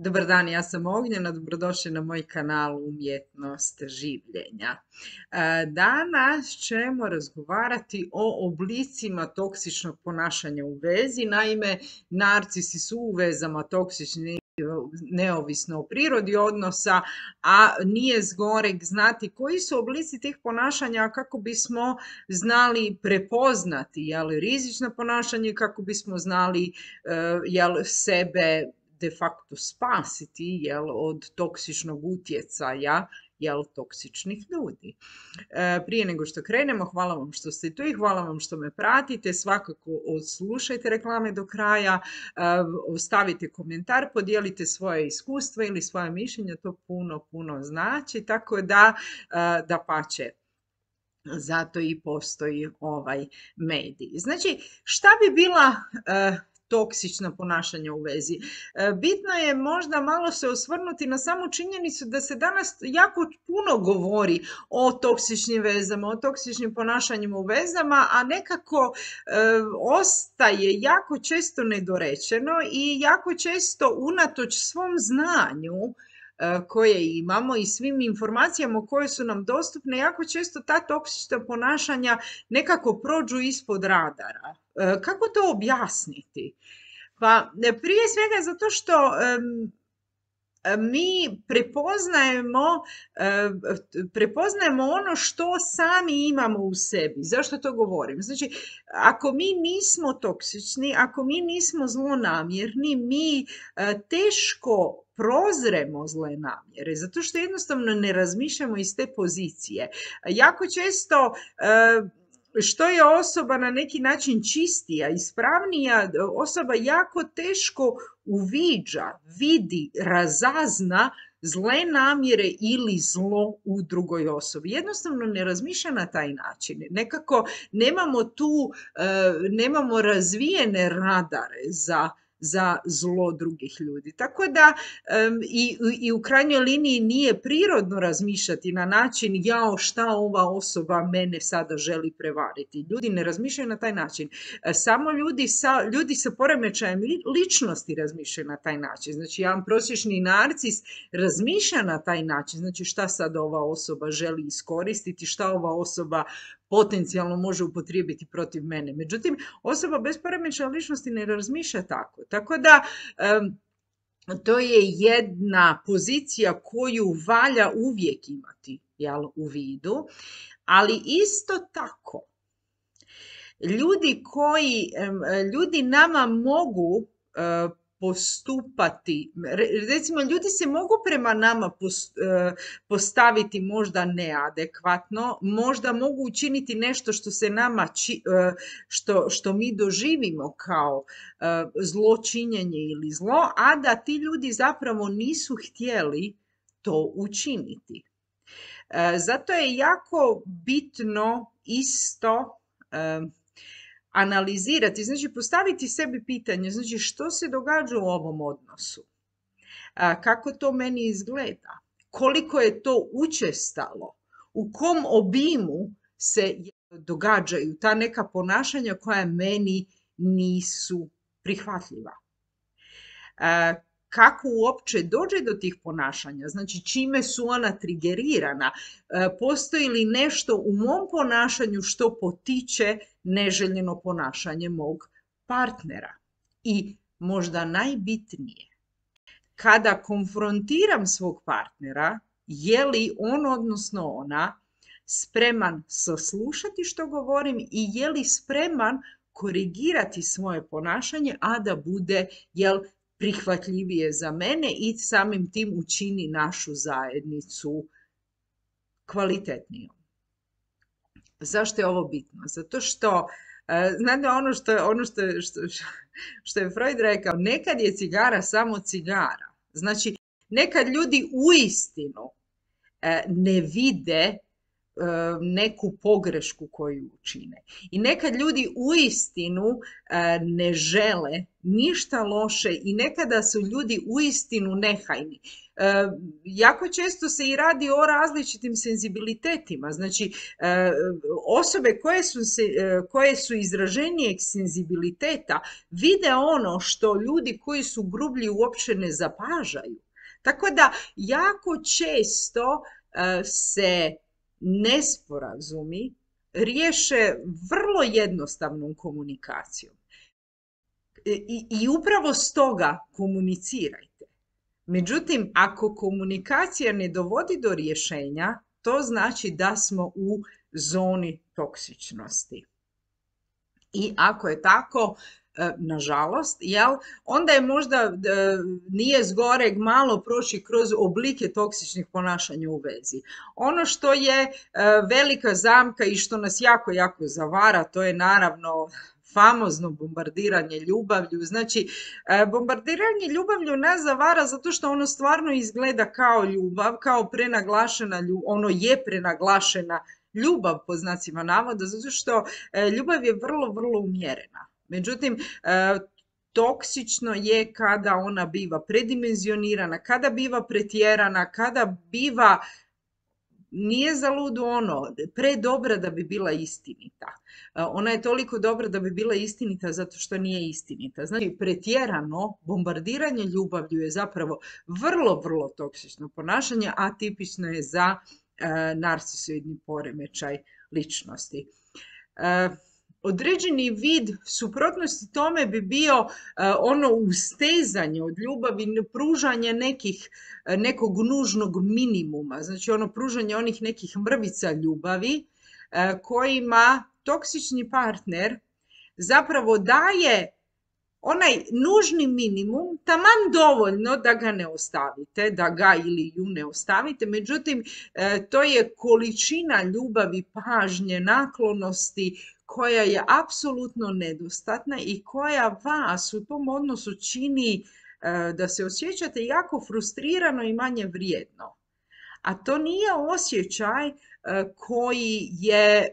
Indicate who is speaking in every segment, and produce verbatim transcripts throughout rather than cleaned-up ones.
Speaker 1: Dobar dan, ja sam Ognjena, dobrodošli na moj kanal Umjetnost življenja. E, Danas ćemo razgovarati o oblicima toksičnog ponašanja u vezi. Naime, narcisi su u vezama toksični neovisno o prirodi odnosa, a nije zgoreg znati koji su oblici tih ponašanja kako bismo znali prepoznati jel, rizično ponašanje, kako bismo znali jel, sebe de facto spasiti jel, od toksičnog utjecaja jel, toksičnih ljudi. E, prije nego što krenemo, hvala vam što ste tu i hvala vam što me pratite. Svakako odslušajte reklame do kraja, e, ostavite komentar, podijelite svoje iskustva ili svoje mišljenja, to puno, puno znači, tako da, e, da pače. Zato i postoji ovaj medij. Znači, šta bi bila e, toksična ponašanja u vezi? Bitno je možda malo se osvrnuti na samu činjenicu da se danas jako puno govori o toksičnim vezama, o toksičnim ponašanjima u vezama, a nekako e, ostaje jako često nedorečeno i jako često unatoč svom znanju koje imamo i svim informacijama koje su nam dostupne, jako često ta toksična ponašanja nekako prođu ispod radara. Kako to objasniti? Pa prije svega zato što um, mi prepoznajemo, prepoznajemo ono što sami imamo u sebi. Zašto to govorim? Znači, ako mi nismo toksični, ako mi nismo zlonamjerni, mi teško prozremo zle namjere, zato što jednostavno ne razmišljamo iz te pozicije. Jako često što je osoba na neki način čistija, ispravnija, osoba jako teško uviđa, vidi, razazna zle namjere ili zlo u drugoj osobi. Jednostavno ne razmišlja na taj način. Nekako nemamo tu, nemamo razvijene radare za za zlo drugih ljudi. Tako da um, i, i u krajnjoj liniji nije prirodno razmišljati na način jao šta ova osoba mene sada želi prevariti. Ljudi ne razmišljaju na taj način. Samo ljudi sa, ljudi sa poremećajem ličnosti razmišljaju na taj način. Znači jedan prosječni narcis razmišlja na taj način. Znači šta sad ova osoba želi iskoristiti, šta ova osoba potencijalno može upotrijebiti protiv mene. Međutim, osoba bez poremećaja ličnosti ne razmišlja tako. Tako da, um, to je jedna pozicija koju valja uvijek imati jel, u vidu, ali isto tako, ljudi koji, um, ljudi nama mogu uh, postupati, recimo ljudi se mogu prema nama postaviti možda neadekvatno, možda mogu učiniti nešto što se nama, što, što mi doživimo kao zločinjenje ili zlo, a da ti ljudi zapravo nisu htjeli to učiniti. Zato je jako bitno isto analizirati, znači postaviti sebi pitanje, znači što se događa u ovom odnosu, a, kako to meni izgleda, koliko je to učestalo, u kom obimu se događaju ta neka ponašanja koja meni nisu prihvatljiva. A, kako uopće dođe do tih ponašanja, znači čime su ona trigerirana, postoji li nešto u mom ponašanju što potiče neželjeno ponašanje mog partnera. I možda najbitnije, kada konfrontiram svog partnera, je li on, odnosno ona, spreman saslušati što govorim i je li spreman korigirati svoje ponašanje, a da bude, jel, prihvatljivije za mene i samim tim učini našu zajednicu kvalitetnijom. Zašto je ovo bitno? Zato što, znate ono što, ono što, što, što je Freud rekao, nekad je cigara samo cigara. Znači, nekad ljudi uistinu ne vide neku pogrešku koju učine. I nekad ljudi uistinu ne žele ništa loše i nekada su ljudi uistinu nehajni. Jako često se i radi o različitim senzibilitetima. Znači, osobe koje su, se, koje su izraženijeg senzibiliteta vide ono što ljudi koji su grublji uopće ne zapažaju. Tako da jako često se nesporazumi riješe vrlo jednostavnom komunikacijom. I, i upravo stoga komunicirajte. Međutim, ako komunikacija ne dovodi do rješenja, to znači da smo u zoni toksičnosti. I ako je tako, nažalost, jel, onda je možda nije zgoreg malo proći kroz oblike toksičnih ponašanja u vezi. Ono što je velika zamka i što nas jako, jako zavara, to je naravno famozno bombardiranje ljubavlju. Znači, bombardiranje ljubavlju nas zavara zato što ono stvarno izgleda kao ljubav, kao prenaglašena ljubav, ono je prenaglašena ljubav po znacima navoda, zato što ljubav je vrlo, vrlo umjerena. Međutim, toksično je kada ona biva predimenzionirana, kada biva pretjerana, kada biva, nije za ludu ono, predobra da bi bila istinita. Ona je toliko dobra da bi bila istinita zato što nije istinita. Znači, pretjerano bombardiranje ljubavlju je zapravo vrlo, vrlo toksično ponašanje, a tipično je za e, narcisoidni poremećaj ličnosti. E, Određeni vid suprotnosti tome bi bio uh, ono ustezanje od ljubavi, pružanje nekih, nekog nužnog minimuma, znači ono pružanje onih nekih mrvica ljubavi uh, kojima toksični partner zapravo daje onaj nužni minimum, taman dovoljno da ga ne ostavite, da ga ili ju ne ostavite, međutim to je količina ljubavi, pažnje, naklonosti koja je apsolutno nedostatna i koja vas u tom odnosu čini da se osjećate jako frustrirano i manje vrijedno. A to nije osjećaj koji je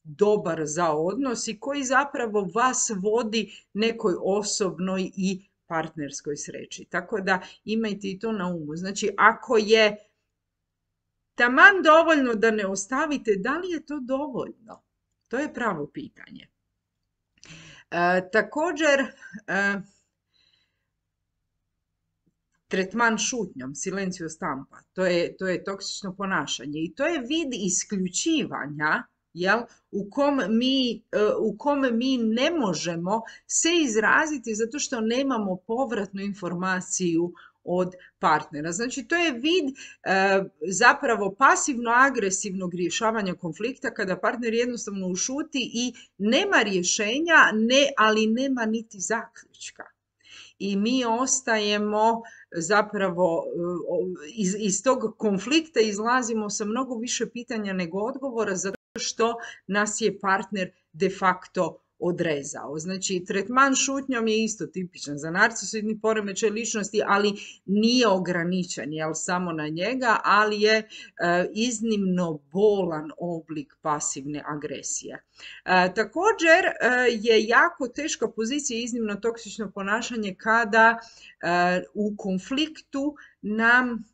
Speaker 1: dobar za odnos i koji zapravo vas vodi nekoj osobnoj i partnerskoj sreći. Tako da imajte i to na umu. Znači, ako je taman dovoljno da ne ostavite, da li je to dovoljno? To je pravo pitanje. E, također, e, tretman šutnjom, silencio stampa, to je, to je toksično ponašanje i to je vid isključivanja, jel, u kom mi, u kom mi ne možemo se izraziti zato što nemamo povratnu informaciju od partnera. Znači, to je vid e, zapravo pasivno-agresivnog rješavanja konflikta kada partner jednostavno ušuti i nema rješenja, ne, ali nema niti zaključka. I mi ostajemo zapravo iz, iz tog konflikta izlazimo sa mnogo više pitanja nego odgovora zato što nas je partner de facto odrezao. Znači, tretman šutnjom je isto tipičan za narcisoidni poremećaj ličnosti, ali nije ograničen, jel, samo na njega, ali je e, iznimno bolan oblik pasivne agresije. E, također e, je jako teška pozicija, iznimno toksično ponašanje kada e, u konfliktu nam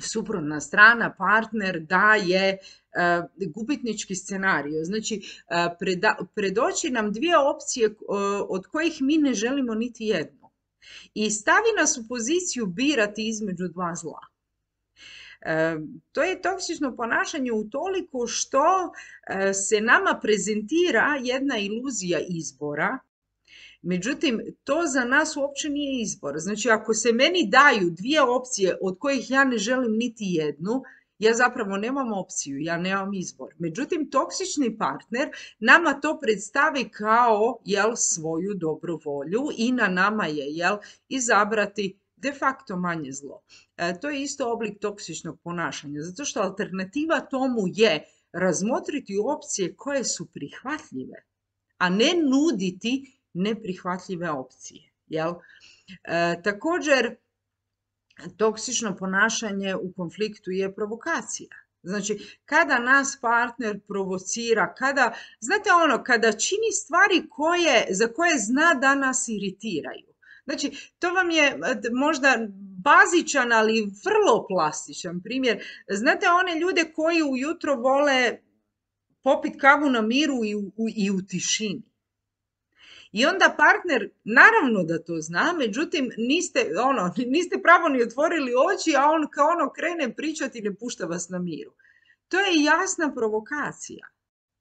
Speaker 1: suprotna strana, partner daje uh, gubitnički scenarij. Znači, uh, preda, predoči nam dvije opcije uh, od kojih mi ne želimo niti jednu. I stavi nas u poziciju birati između dva zla. Uh, to je toksično ponašanje utoliko što uh, se nama prezentira jedna iluzija izbora. Međutim, to za nas uopće nije izbor. Znači, ako se meni daju dvije opcije od kojih ja ne želim niti jednu, ja zapravo nemam opciju, ja nemam izbor. Međutim, toksični partner nama to predstavi kao, jel, svoju dobru volju i na nama je, jel, izabrati de facto manje zlo. E, to je isto oblik toksičnog ponašanja, zato što alternativa tomu je razmotriti opcije koje su prihvatljive, a ne nuditi neprihvatljive opcije. Jel? E, također, toksično ponašanje u konfliktu je provokacija. Znači, kada nas partner provocira, kada, znate ono, kada čini stvari koje, za koje zna da nas iritiraju. Znači, to vam je možda bazičan, ali vrlo plastičan primjer. Znate one ljude koji ujutro vole popit kavu na miru i u, i u tišini. I onda partner, naravno da to zna, međutim niste, ono, niste pravo ni otvorili oči, a on kao ono krene pričati i ne pušta vas na miru. To je jasna provokacija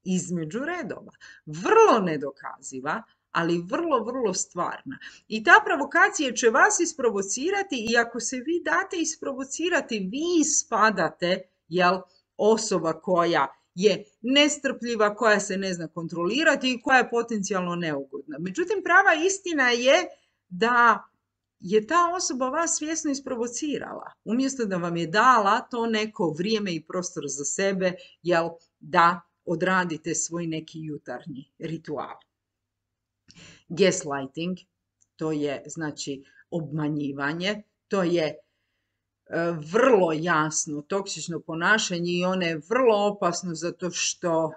Speaker 1: između redova. Vrlo nedokaziva, ali vrlo, vrlo stvarna. I ta provokacija će vas isprovocirati i ako se vi date isprovocirati, vi spadate, jel, osoba koja je nestrpljiva, koja se ne zna kontrolirati i koja je potencijalno neugodna. Međutim, prava istina je da je ta osoba vas svjesno isprovocirala. Umjesto da vam je dala to neko vrijeme i prostor za sebe, jel, da odradite svoj neki jutarnji ritual. Gaslighting, to je znači obmanjivanje, to je vrlo jasno toksično ponašanje i ono je vrlo opasno zato što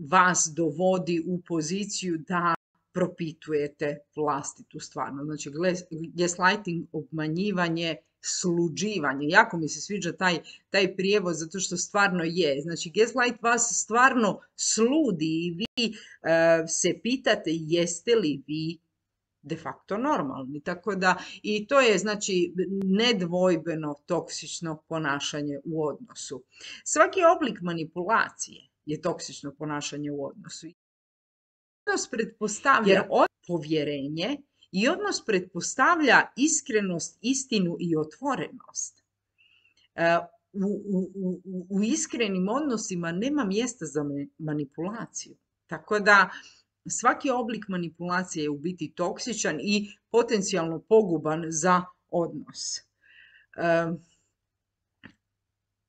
Speaker 1: vas dovodi u poziciju da propitujete vlastitu stvarnost. Znači, gaslighting, obmanjivanje, sluđivanje. Jako mi se sviđa taj, taj prijevod zato što stvarno je. Znači, gaslight vas stvarno sludi i vi uh, se pitate jeste li vi de facto normalni. Tako da, i to je znači nedvojbeno toksično ponašanje u odnosu. Svaki oblik manipulacije je toksično ponašanje u odnosu. Odnos pretpostavlja povjerenje i odnos pretpostavlja iskrenost, istinu i otvorenost. U, u, u, u iskrenim odnosima nema mjesta za manipulaciju. Tako da svaki oblik manipulacije je u biti toksičan i potencijalno poguban za odnos. E,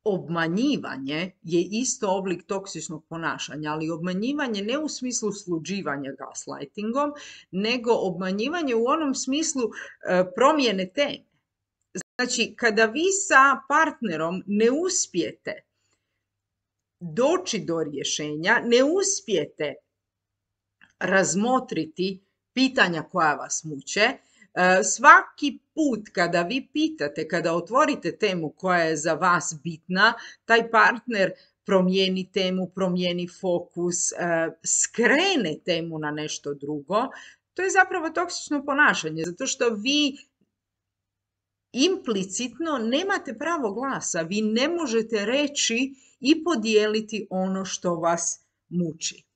Speaker 1: obmanjivanje je isto oblik toksičnog ponašanja, ali obmanjivanje ne u smislu sluđivanja gaslightingom, nego obmanjivanje u onom smislu e, promjene teme. Znači, kada vi sa partnerom ne uspijete doći do rješenja, ne uspijete razmotriti pitanja koja vas muče, svaki put kada vi pitate, kada otvorite temu koja je za vas bitna, taj partner promijeni temu, promijeni fokus, skrene temu na nešto drugo, to je zapravo toksično ponašanje, zato što vi implicitno nemate pravo glasa, vi ne možete reći i podijeliti ono što vas muči.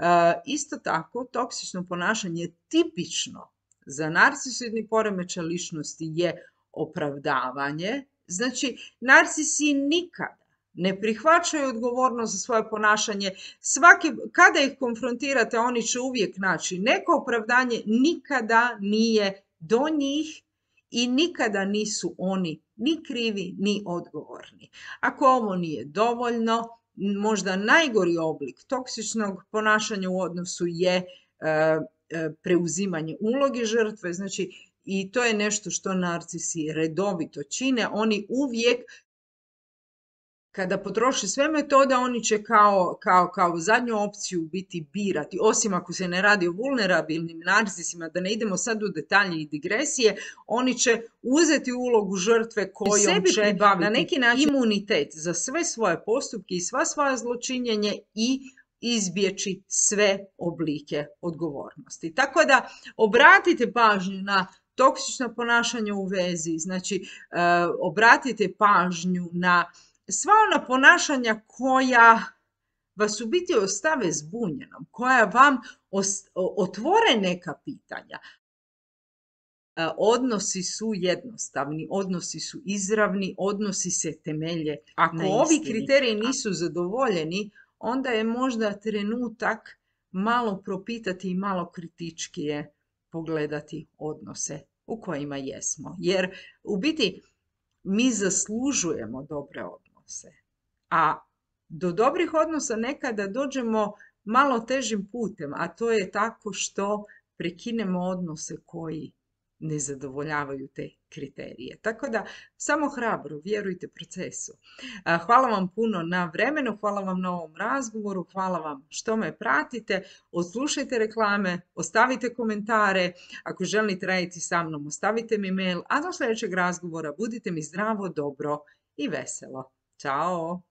Speaker 1: Uh, isto tako, toksično ponašanje tipično za narcisoidni poremećaj ličnosti je opravdavanje. Znači, narcisi nikada ne prihvaćaju odgovornost za svoje ponašanje. Svaki, kada ih konfrontirate, oni će uvijek naći neko opravdanje, nikada nije do njih i nikada nisu oni ni krivi, ni odgovorni. Ako ovo nije dovoljno, možda najgori oblik toksičnog ponašanja u odnosu je e, e, preuzimanje uloge žrtve, znači i to je nešto što narcisi redovito čine. Oni uvijek, kada potroše sve metode, oni će kao, kao, kao zadnju opciju biti birati, osim ako se ne radi o vulnerabilnim narcisima, da ne idemo sad u detalje i digresije, oni će uzeti ulogu žrtve kojom sebi će na neki način imunitet za sve svoje postupke i sva svoja zločinjenje i izbjeći sve oblike odgovornosti. Tako da obratite pažnju na toksično ponašanje u vezi, znači uh, obratite pažnju na sva ona ponašanja koja vas u biti ostave zbunjenom, koja vam otvore neka pitanja. Odnosi su jednostavni, odnosi su izravni, odnosi se temelje Ako na istini. Ovi kriteriji nisu zadovoljeni, onda je možda trenutak malo propitati i malo kritičkije pogledati odnose u kojima jesmo. Jer u biti mi zaslužujemo dobre odnose. A do dobrih odnosa nekada dođemo malo težim putem, a to je tako što prekinemo odnose koji ne zadovoljavaju te kriterije. Tako da samo hrabro, vjerujte procesu. Hvala vam puno na vremenu, hvala vam na ovom razgovoru, hvala vam što me pratite, odslušajte reklame, ostavite komentare, ako želite raditi sa mnom, ostavite mi mail, a do sljedećeg razgovora budite mi zdravo, dobro i veselo. Ćao!